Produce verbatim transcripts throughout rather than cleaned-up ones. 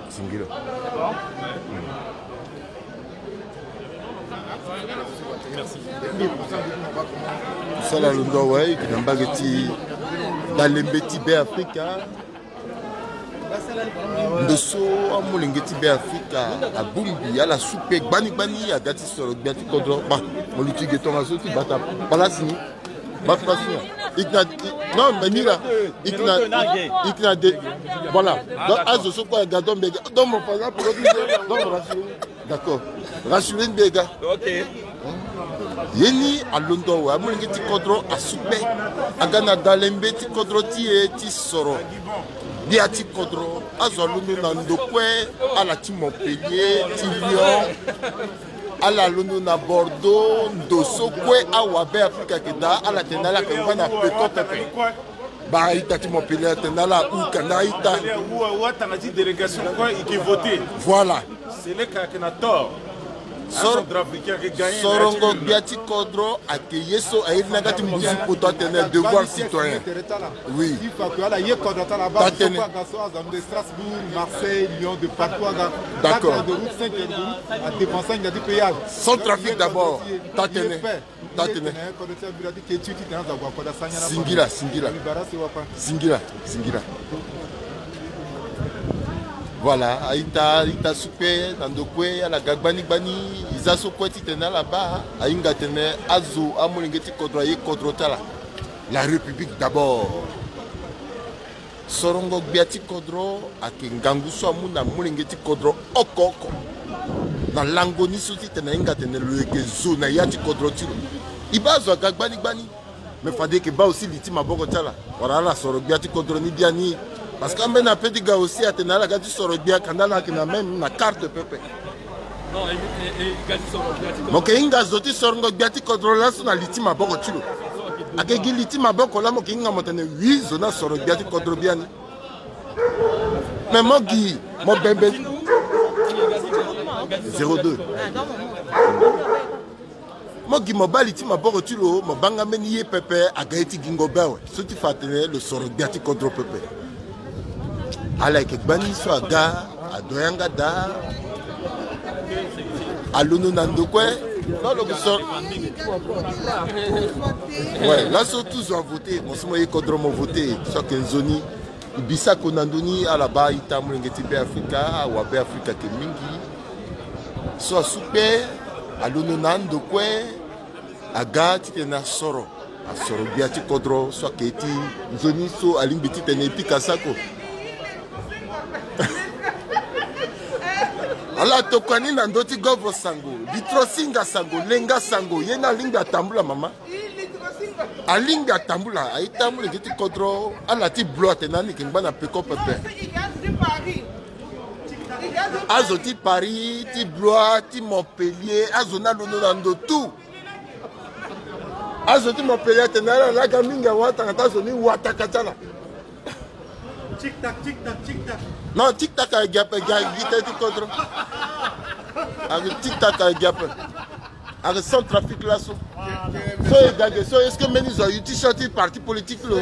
Singila. Tosala londo awe, yeke na mbage ti Dalembe ti Beafrika. Ndo so amolenge ti Beafrika abongbi ala supe gbani gbani, aga ti soro gbia ti kodro. Ba, mo luti ge tongaso ti bata palasi ni. Ba place ni. Ikna, non, mais mira. Ikna, ikna de. Voilà. Donc, azo so kue aga, donc, mais, donc, mon, par exemple, donc, mon, rassurez. D'accord. Rassurez, mbega. Ok. Ye ni alondo awe, amolenge ti kodro asupe. Aga na Dalembe ti kodro ti e ti soro gbia ti kodro. Azo alondo na ndo kue, ala ti Montpellier, ti Lyon. Ala londo na Bordeaux, ndo so kue awa Beafrika ayeke daa, ala tene ala yeke ngba na peko pepe. Ba ita ti Montpellier atene ala hou kanda ita. Awa tanga ti délégation kue, i yeke voté. Voilà. Seleka ayeke na tort. Sor-, Centrafricain ayeke gagné. Sorongo gbia ti kodro ayeke ye so airi na yanga ti mbuzu poto atene devoir citoyen. Oui. Tatene. Strasbourg, Marseille, Lyon, de partout, aga. D'accord. Quatre heures de route, cinq heures de route, à dépenser, il y a du péage. Sans trafic d'abord. Tatene. Tatene. Singila, singila. Singila, singila. Voilà, a-ita, a-ita supe na ndo kue, ala ga gbani gbani, e za so kue titene ala baa, a hinga atene azo amolenge ti kodro aye kodro ti ala. La République d'abord. Sorongo gbia ti kodro ayeke ngangu so amu na molenge ti kodro oko oko. Na lango ni so titene ahinga atene lo yeke zo na ya ti kodro ti lo. E baa azo aga gbani gbani. Me fade e yeke baa aussi li ti maboko ti ala. Wala ala soro gbia ti kodro ni biani. Parce que ambeni ape ti ga aussi atene ala ga ti soro gbia kanda ala yeke na même na carte pepe. Mo yeke hinga zo ti sorongo gbia ti kodro laso na li ti maboko ti lo. Ayeke gi li ti maboko laa mo yeke hinga mo tene wi zo ni asoro gbia ti kodro biani. Me mo gi mo bembe. Zéro deux. Mo gi mo baa li ti maboko ti lo, mo baa nga mbeni ye pepe aga ye ti gingo be awe. So ti fa atene lo soro gbia ti kodro pepe. Ala yeke gbani so aga, ado yanga daa. Alondo na ndo kue. Non, lo yeke soro. Ouais, laso tout zo avoté. Mo so mo ye kodro mo voté. So ayeke nzoni. E bisa ko na ndö ni ala baa ita molenge ti Beafrika, awa Beafrika ayeke mingi. So asu kpe, alondo na ando kue, aga titene asoro. Asoro gbia ti kodro so ayeke ti nzoni so alingbi titene e pika sako. Ala tokua ni na ndö ti govo sango, litro singa sango, lenga sango, ye ni alingbi atambula mama. Alingbi atambula, aye tambula gi ti kodro, ala ti blo atene ani yeke ngba na peko pepe. Azo ti Paris, ti Blois, ti Montpellier, azo ni alondo na ndo tout. Azo ti Montpellier atene ala laga mingi awa tanga ti azo ni wataka ti ala. Tic tac, tic tac, tic tac. Non, tic tac ayeke gi ape, gi aye gi tënë ti kodro. Ayeke tic tac ayeke gi ape. Ayeke Centrafrique laso. So e ga ge so, est-ce que mbeni zo ayu ti sio ti parti politique lo?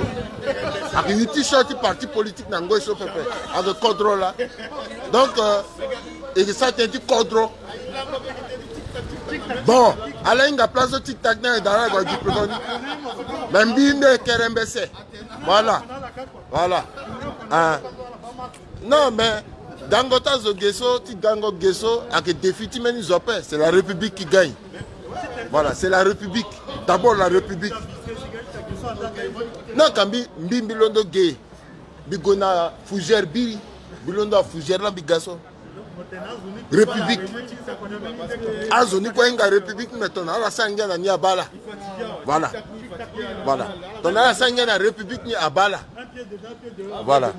Ayeke yu ti sio ti parti politique na ngoi so pepe. Ayeke kodro laa. Donc, euh, e yeke sara tënë ti kodro. Bon, ala hinga place so tic tac ni ayeke daa na gue gi peko ni. Me mbi mbi ayeke kere mbese. Voilà. Voilà. Ah. Non, mais gango ti azo ge so, ti gango ge so, ayeke défi ti mbeni zo ape. C'est la République qui gagne. Voilà, c'est la République. D'abord la République. Non, ka mbi, mbi, mbi londo ge. Mbi gue na fougère biri. Mbi londo na fougère laa mbi ga so. République. Azo ni kue ahinga République, mais tongana ala sara ngia na ni abaa ala. Voilà. Voilà. Tongana ala sara ngia na République ni abaa ala. Voilà.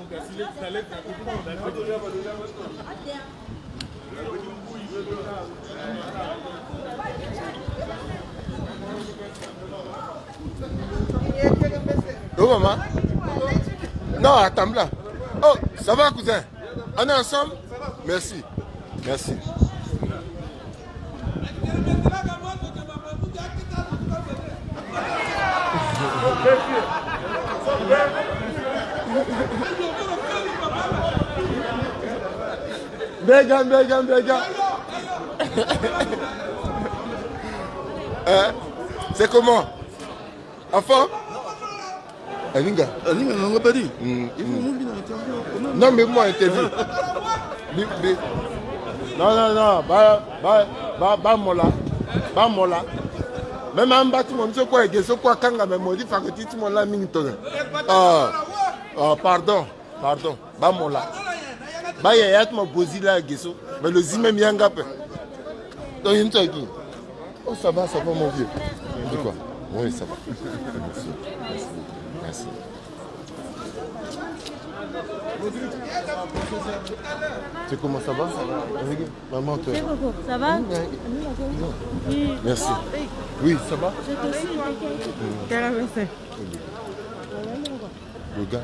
Oh, maman. Non, attends là. Oh, ça va, cousin? On est ensemble? Merci. Merci. Mbega, mbega, mbega. Hein? C'est comment? Enfin? Aninga. Aninga na nga badi. Mm, il faut mm. Mu bi na interview. Non, mais moi, interview. Bi, bi. Non, non, non. Ba, ba, ba, ba mola. Ba mola. Même en bas, tu m'as dit quoi, que ce quoi, quand même, on dit, faut que tu m'as la mine, toi. Ah, ah, pardon. Pardon, ba mola. Ba yaya ti mo bozi la geso. Mais le zi même yanga pe. Donc, il me dit, oh, ça va, ça va, mon vieux. Il dit quoi? Oui, ça va. Merci. Merci. Merci. Tu comment ça va? Ça va. Maman, toi. C'est beaucoup. Ça va? Oui. Merci. Oui, ça va? Je te suis. Carrément. Le gars.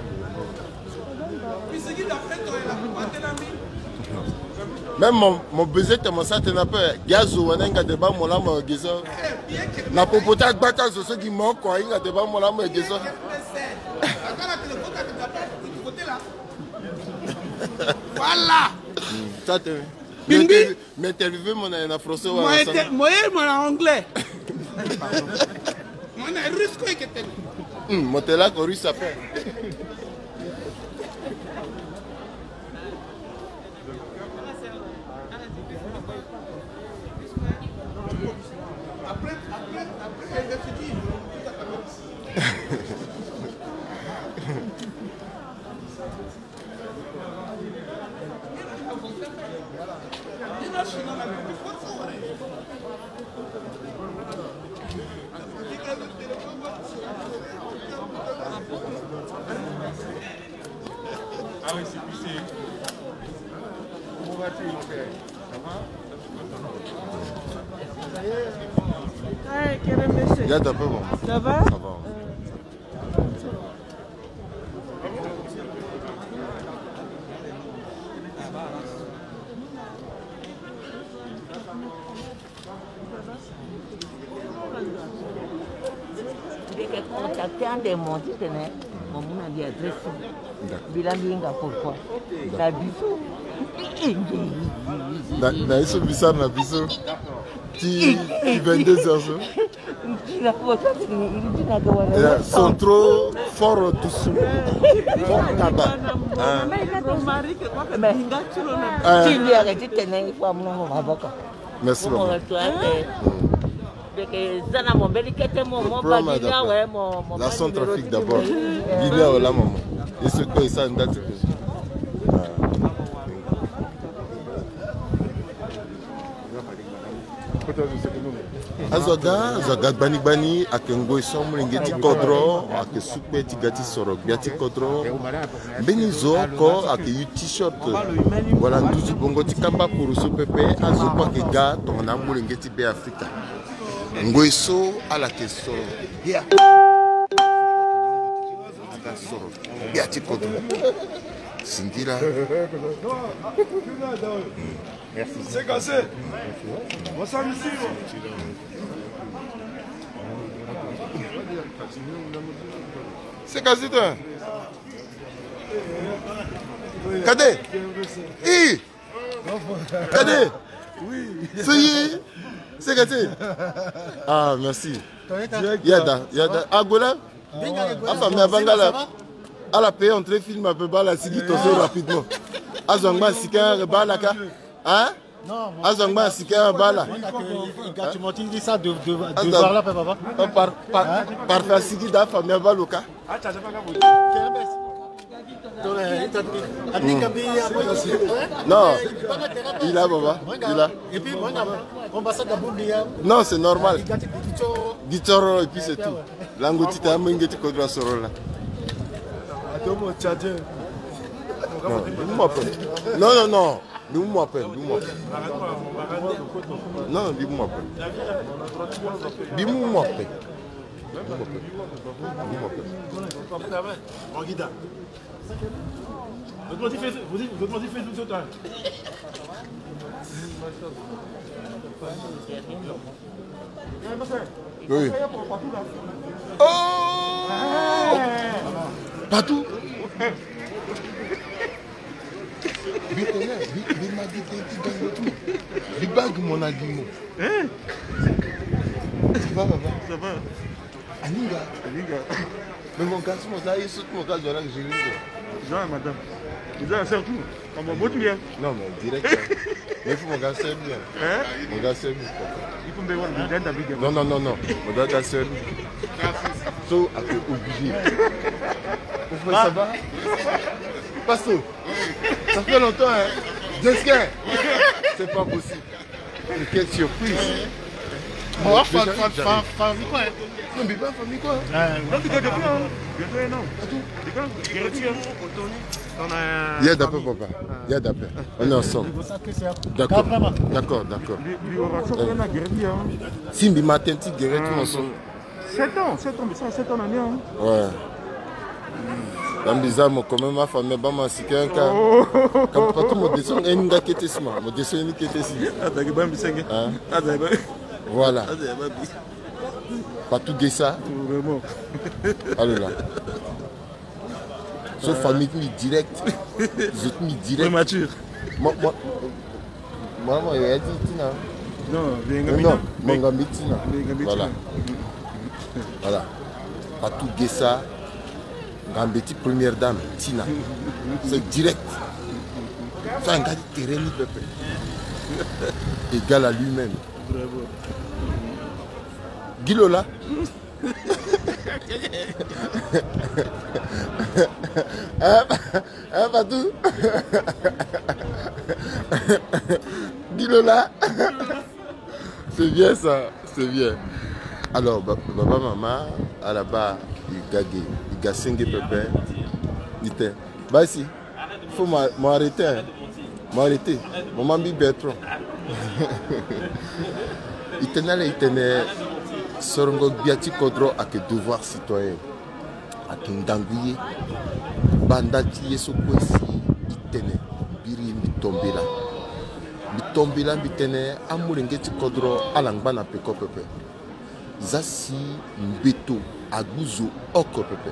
Même mon, mon baiser te mo sa te na pe. Gazo wana nga de ba mo la mo gezo. Na popo ta gbata zo so gi mo ko nga de ba mo la mo gezo. Voilà. Ça te. Bimbi. M'interviewer mo na français. Mo ye mo na anglais. Mo na russe ko eke tene. Hmm, mo tela ko russe ape. Comment vas-tu, mon frère? Ça va? Hey, quel est monsieur? Regarde un peu, bon. Ça va? Ça va. Ndeke contacter ande mo ti tene mo mu na mbi adresse. D'accord. Mbi la mbi hinga pourquoi? D'accord. Na biso. Na, na ye so mbi sara na biso. Ti, ti vingt-deux heures so. Ntina ko ta ti, ntina ko wala. Yeah, sont trop fort doucement. Fort tabac. Hein. Mais ti mbi ayeke ti tene il faut amu na mo maboko. Merci beaucoup. Ndeke za na mo mbeni kete mo, mo bagi ni awe mo, mo. La Centrafrique d'abord. Bili awe la, maman. Et ce que ça, ndati. Azo aga, azo aga gbani gbani, ayeke ngoi so amolenge ti kodro, ayeke sukpe ti ga ti soro gbia ti kodro. Mbeni zo oko ayeke yu t-shirt. Wala nduzu bongo ti kamba poroso pepe, azo kue ayeke ga tongana amolenge ti Beafrika. Ngoi so ala yeke soro gbia. Aga soro gbia ti kodro. Singila. Merci. C'est cassé. Bonsoir, monsieur. C'est cassé, toi. Kade. I. Kade. Oui. Seye. C'est cassé. Ah, merci. Yada, yada. Agola. Afamille abangala. Ala paye entrée film ape, bala sigi toso rapidement. Azo angba sika bala ka. Hein? Azo angba sika bala. Par, par, parfait sigi da famille abaloka. Non, il a, baba, il a. Non, c'est normal. Guichoro et puis c'est tout. Lango ti ta menge ti kodro soro la. Non, non, non. Mbi mu mo ape, mbi mu mo ape. Non, mbi mu mo ape. Mbi mu mo ape. Mbi mu mo ape. Mbi mu mo ape. Oui. Oh! Patou. Bi tene, bi, bi Li bague, mon aliment. Hein? Ça va, papa? Ça va. Aninga. Aninga. Mais mon garçon, mon gars, il saute mon gars, je vais gérer. Jean, madame. Vous avez un cercle. Comment, bon, bien? Non, mais direct. Hein. Mais il faut mon gars, c'est bien. Hein? Mon gars, c'est bien. Il faut me voir le gars, David. Non, non, non, non. Mon gars, c'est bien. So, après, obligé. Vous pouvez savoir? Pasto, ça fait longtemps, hein? Deux secondes. C'est pas possible. Quelle surprise. Bon, fa fa fa fa quoi? Non, mais pas famille quoi. Non, tu gagnes plus, hein. Bientôt un an. Tu gagnes, guarantee, hein. Il y a d'après, papa. Il y a d'après. On est ensemble. D'accord. D'accord, d'accord. Lui, lui, on va choper un an, guarantee, hein. Simbi matin, ti guéret tout ensemble. Sept ans, sept ans, mais ça, sept ans, on a mis, hein. Ouais. Dans bizarre, moi, quand même, ma famille, bah, ma si qu'un cas. Quand pas tout mon descend, un gars qui était si, mon descend, un qui était si. Ah, t'as que bon, mais c'est que. Hein? Ah, t'as bon. Voilà. Ah, t'as bon. Pas tout gay ça. Vraiment. Allez là. So famille mi direct. Zot mi direct. Prématuré. Moi, moi, moi, moi, il a dit, Tina. Non, bien, Non, non, mon gars, mi Tina. Voilà. Voilà. Fatou Gessa, Ngambeti première dame, Tina. C'est direct. Ça, un gars de terrain, il peut faire. Égal à lui-même. Guy Lola. Hein, hein, Fatou? Guy Lola. C'est bien ça, c'est bien. Alors, ba- papa, maman, à la bas, il gagne, il gagne cinq pépins. Il était. Bah, si. Faut m'a- m'arrêter, hein. M'arrêter. Maman bi Bertrand. I tene ala, i tene sorongo gbia ti kodro ayeke devoir citoyen. Ayeke ngangu ye. Banda ti ye so kue si i tene, biri ye mbi tombela. Mbi tombela mbi tene amolenge ti kodro ala ngba na peko pepe. Za si mbeto agbu zo oko pepe.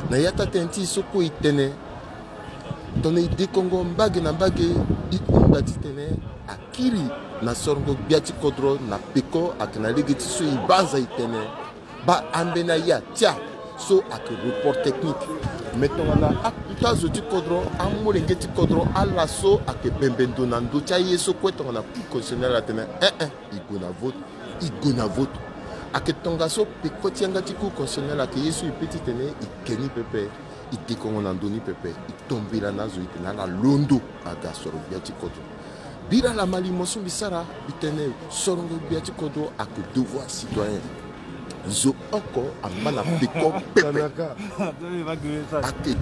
Na ya ti atënë ti e so kue e tene, tongana e dekongo mbage na mbage, e hunda titene akiri na sorongo gbia ti kodro na peko ayeke na lege ti so e baa aza e tene, baa ambeni aye atia so ayeke report technique. Me tongana akuta zo ti kodro, amolenge ti kodro ala so ayeke bembe ndo na ndö ti aye so kue tongana Cour constitutionnelle atene, eh eh, e gue na vote. E gue na vote. Ayeke tongaso peko ti yanga ti Cour constitutionnelle ayeke ye so e pe titene e ke ni pepe, e dekongo na ndö ni pepe, e tombela na azo e tene ala londo aga soro gbia ti kodro. Bira ala ma limo so mbi sara, mbi tene sorongo gbia ti kodro ayeke devoir citoyen. Zo oko angba na peko pepe. Ayeke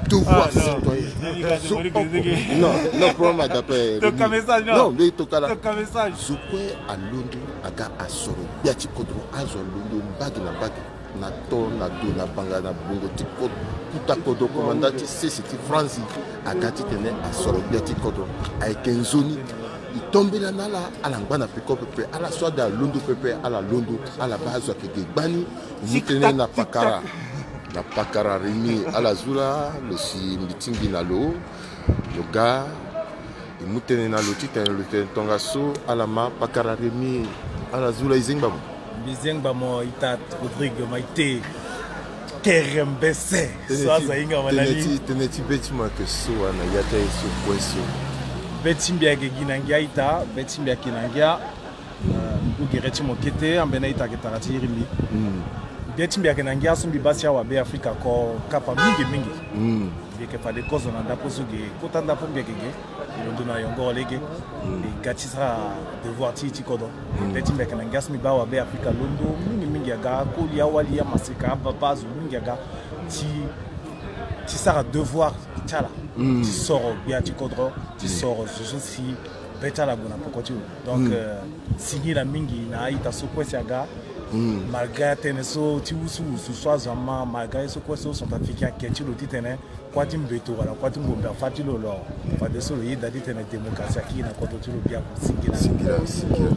devoir citoyen. Zo oko. Non, non, problème adapre. Toka message, non. Non, mbi toka la. Toka message. Zo kue alondo aga asoro gbia ti kodro, azo alondo mbage na mbage, na to, na do, na banga, na bongo ti kodro, kuta kodro, komanda ti sese ti Franzi aga titene asoro gbia ti kodro. Ayeke nzoni. E tombela na ala, ala ngba na peko pepe, ala so ade alondo pepe, ala londo, ala baa azo ayeke ge gbani. E mu tënë na pakara, na pakara Rémi, ala zu la, lo si mbi tingbi na lo, lo ga, e mu tënë na lo titene lo tene tongaso, ala ma pakara Rémi, ala zu la, e zengba mo. Mbi zengba mo ita Rodrigue Maite. Kerembese. So aza hinga ma na ni. Tënë ti, tënë ti be ti mo ayeke so wa na ya ti aye so kue so. Be ti mbi ayeke gi na ngia ita, be ti mbi ayeke na ngia. Eh, ngu gere ti mo kete, ambeni a-ita ayeke tara ti iri mbi. Be ti mbi ayeke na ngia so mbi baa si awa Beafrika oko kapa mingi mingi. Mbi yeke fade kozo na ndapo so ge, kota ndapo mbi yeke ge. E londo na yongoro lege. E ga ti sara devoir ti e ti kodro. Be ti mbi ayeke na ngia so mbi baa awa Beafrika londo mingi mingi aga, akoli, awali, amaseka, ababa, azo mingi aga ti, ti sara devoir ti ala. Ti soro gbia ti kodro, ti soro zo so si be ti ala gue na peko ti lo. Donc, euh, singila mingi na a-ita so kue si aga. Malgré atënë so ti wusuwusu so azo ama, malgré ye so kue so centrafricain ake ti lo titene kuâ ti mbeto wala kuâ ti ngombe afa ti lo lo. Fadeso lo yeda titene démocratie akiri na kodro ti lo biaku. Singila. Singila, singila.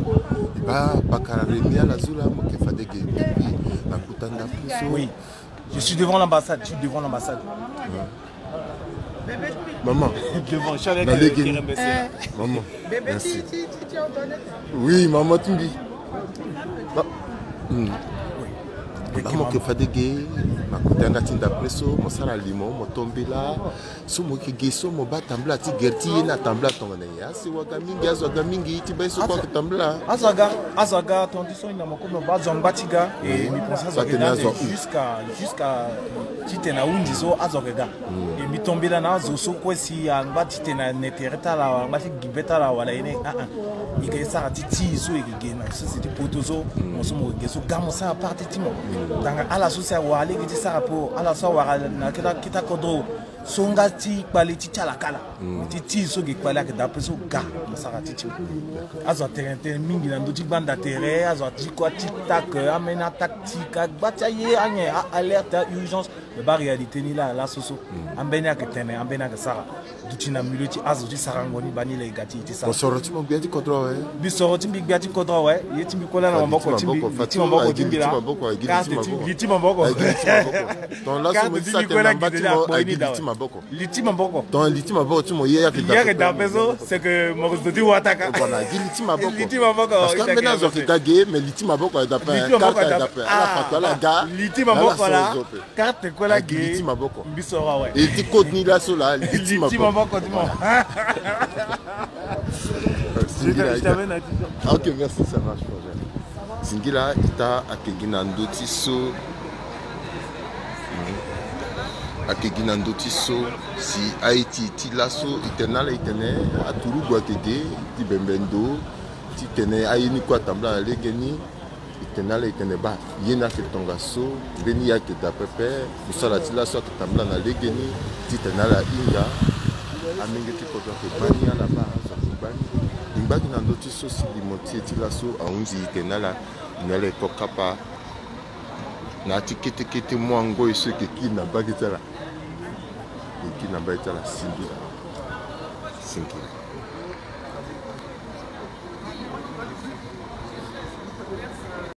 E baa pakara Rémi, ala zu la, mo yeke fade ge depuis na kota ndapo so. Oui. Je suis devant l'ambassade, je suis devant l'ambassade. Ouais. Maman, Devant, je suis avec Na euh, lege. Kerem Bessela. Maman, merci. Oui, maman Tumbi. Ma- Hmm. Maman ke fade ge, ma kota yanga ti ndapre so, mo sara limo, mo tombela. So mo ke ge so, mo ba tambela ti gere ti ye na tambela tongana ye. Asi waga mingi, azo waga mingi, ti bai so kua ke tambela. Azo aga, azo aga, tonti so ina mo kono ba azo ngba ti ga. E mi pense azo ke dande jusqu'à jusqu'à titene ahunzi so azo ke ga. E mbi tombela na azo so kue si angba titene ane tere ti ala wala angba ti gi be ti ala wala ye ni. Ah ah. E ke sara ti ti so e ke ge na sese ti poto so. Mo so mo ke ge so ga mo sara parti ti mo. Tanga ala so si awara lege ti sara po ala so awara na keta keta kodro. So nga ti kpale ti ti ala kala. Ti ti so ge kpale ayeke daa ape so ga mo sara ti ti mo. Azo atene tënë mingi na ndö ti gbanda tere, azo ati kua ti tak, ambeni atactique, agba ti aye anyen, a-alerte, a-urgence. Me baa réalité ni laa laso so. Ambeni ayeke tene, ambeni ayeke sara. Duti na milieu ti azo ti sarango ni baa ni laa e ga ti e ti sara. Mo soro ti mo gbia ti kodro awe. Mbi soro ti mbi gbia ti kodro awe. Ye ti mbi kue laa na maboko ti mbi, li ti maboko ti mbi laa. Karte ti li ti maboko. Ton laso mo ti sa tene na mba ti mo, aye gi li ti maboko. Li ti maboko. Ton li ti maboko ti mo ye ayeke daa ape so, c'est que mo zo ti wataka. Voilà, gi li ti maboko. Li ti maboko. Parce que ambeni azo ayeke ga ge, mais li ti maboko ayeke daa ape. Li ti maboko ayeke daa ape. Ala fato ala ga. Li ti maboko laa. Karte kue laa ge. Li ti maboko. Mbi soro awe. E ti code ni laso laa, li ti maboko. Li ti maboko ti mo. Singila, je t'amène à dix heures. Ah, ok, merci, ça marche, frère. Singila, ita ayeke gi na ndö ti so. Hmm. Ayeke gi na ndö ti so si aye ti e ti laso e tene na ala e tene aturugu ayeke ge ti bembe ndo ti tene aye ni kue atambula na legeni. E tene na ala e tene baa ye ni ayeke tongaso, mbeni ye ayeke daa pepe. Mosala ti laso ayeke tambula na legeni. Ti tene na ala ahinga. Amenge ti kodro ayeke baa ni, ala baa azo ayeke baa ni. E ngba gi na ndö ti so si limo ti e ti laso ahunzi e tene na ala. E na ala e ko kapa na ya ti kete kete mu angoi so e yeke kiri na mbage ti ala. E kiri na mbage ti ala. Singila. Singila.